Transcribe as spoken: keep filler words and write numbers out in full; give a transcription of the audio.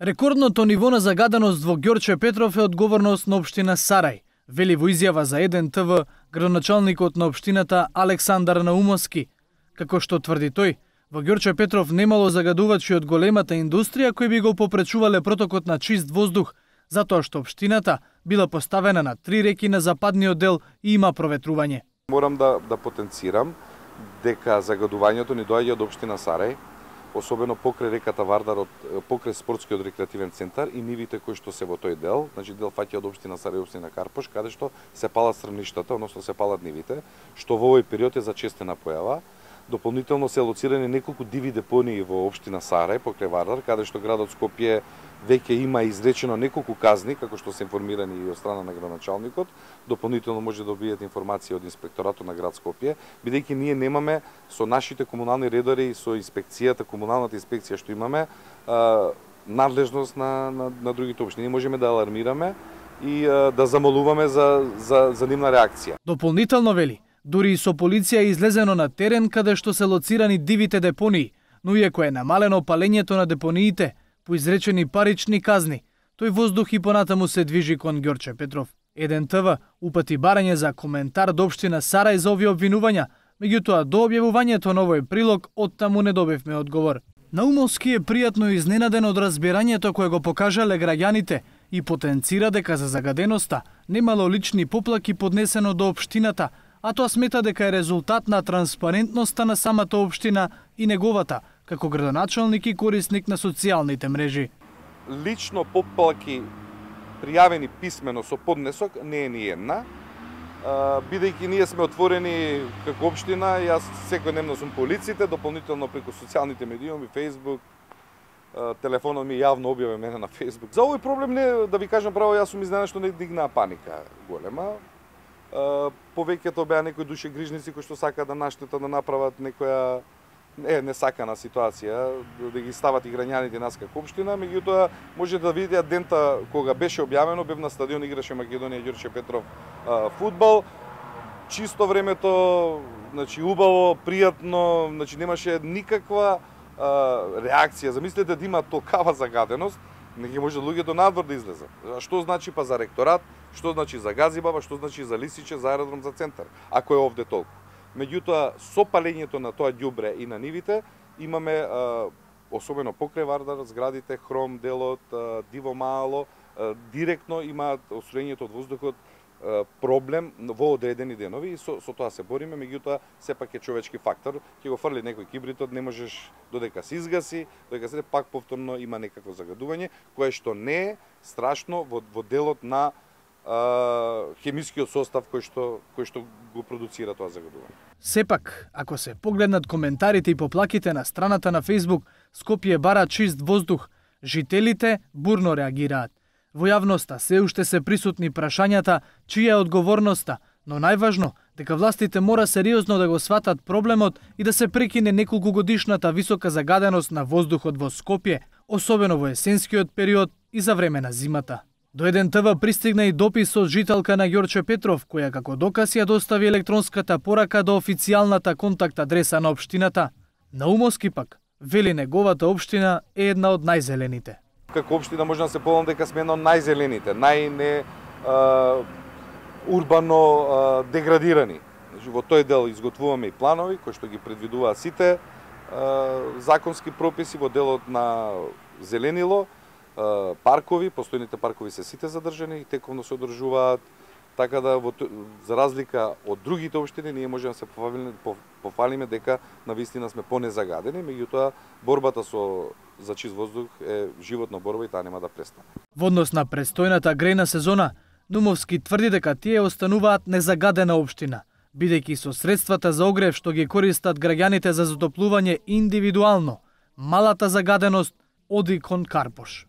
Рекордното ниво на загаденост во Ѓорче Петров е одговорност на општина Сарај, вели во изјава за еден те ве градоначалникот на општината Александар Наумовски. Како што тврди тој, во Ѓорче Петров немало загадувачи од големата индустрија кои би го попречувале протокот на чист воздух, затоа што општината била поставена на три реки на западниот дел и има проветрување. Морам да, да потенцирам дека загадувањето ни доаѓа од општина Сарај, особено покрај реката Вардар, од покрај спортскиот рекреативен центар и нивите кои што се во тој дел, значи дел фаќа од општина Сарај и општина Карпош, каде што се палат стрмништата, односно се палат нивите, што во овој период е зачестена појава. Дополнително се лоцирани неколку диви депонии во општина Сарај покрај Вардар, каде што градот Скопје веќе има изречено неколку казни, како што се информирани и од страна на градоначалникот. Дополнително може да добиете информација од инспекторатот на град Скопје, бидејќи ние немаме со нашите комунални редари и со инспекцијата, комуналната инспекција што имаме, надлежност на, на, на другите општини. Ние можеме да алармираме и да замолуваме за, за, за нивна реакција. Дополнително вели, дури и со полиција е излезено на терен каде што се лоцирани дивите депонии, но иако е намалено палењето на депониите, по изречени парични казни, тој воздух и понатаму се движи кон Ѓорче Петров. еден те ве упати барање за коментар до општина Сарај за овие обвинувања, меѓутоа до објавувањето на овој прилог оттаму не добивме одговор. Наумовски е пријатно изненаден од разбирањето кое го покажале граѓаните и потенцира дека за загаденоста немало лични поплаки поднесено до општината, а тоа смета дека е резултат на транспарентноста на самата општина и неговата, како градоначалник и корисник на социјалните мрежи. Лично поплаки пријавени писмено со поднесок не е ни една, бидејќи ние сме отворени како општина, јас секојдневно сум по улиците, дополнително преку социјалните медиуми, Facebook, телефонот ми јавно објавен мене на Facebook. За овој проблем не, да ви кажам право, јас сум изненаден што не дигнаа паника голема. Повеќето беа некои душегрижници кои што сакаат да наштета да направат некоја е несакана ситуација, да ги стават играњаните нас како општина, меѓутоа може да видите дента кога беше објавено, бев на стадион, играше Македонија Ѓорче Петров а, фудбал. Чисто времето, значи убаво, пријатно, значи немаше никаква а, реакција. Замислете да има толкава загаденост, не ги може луѓето надвор да излезат. Што значи па за ректорат, што значи за Газибаба, што значи за Лисиче, за аеродром, за центар, ако е овде толку. Меѓутоа, со палењето на тоа ѓубре и на нивите, имаме, а, особено покрај Вардар, зградите, Хром, делот, а, Диво Мало, а, директно имаат освојењето од воздухот а, проблем во одредени денови и со, со тоа се бориме, меѓутоа, сепак е човечки фактор. Ќе го фрли некој кибритот, не можеш додека се изгаси, додека се пак повторно има некакво загадување, кое што не е страшно во, во делот на Uh, хемискиот состав кој што, кој што го продуцира тоа загадување. Сепак, ако се погледнат коментарите и поплаките на страната на Facebook, Скопје бара чист воздух, жителите бурно реагираат. Во јавноста се уште се присутни прашањата чија е одговорноста, но најважно дека властите мора сериозно да го сватат проблемот и да се прекине неколку годишната висока загаденост на воздухот во Скопје, особено во есенскиот период и за време на зимата. До еден те ве пристигна и допис од жителка на Ѓорче Петров, која како доказ ја достави електронската порака до официјалната контакт адреса на општината. Наумовски пак вели неговата општина е една од најзелените. Како општина може да се полам дека сме една од најзелените, најне а, урбано а, деградирани. Во тој дел изготвуваме и планови кои што ги предвидуваат сите а, законски прописи во делот на зеленило, паркови, постојните паркови се сите задржани и тековно се одржуваат, така да во, за разлика од другите општини ние можеме да се пофалиме, пофалиме дека навистина сме понезагадени, меѓутоа борбата со за чист воздух е животна борба и таа нема да престане. Во однос на престојната грејна сезона, Наумовски тврди дека тие остануваат незагадена општина, бидејќи со средствата за огрев што ги користат граѓаните за затоплување индивидуално, малата загаденост оди кон Карпош.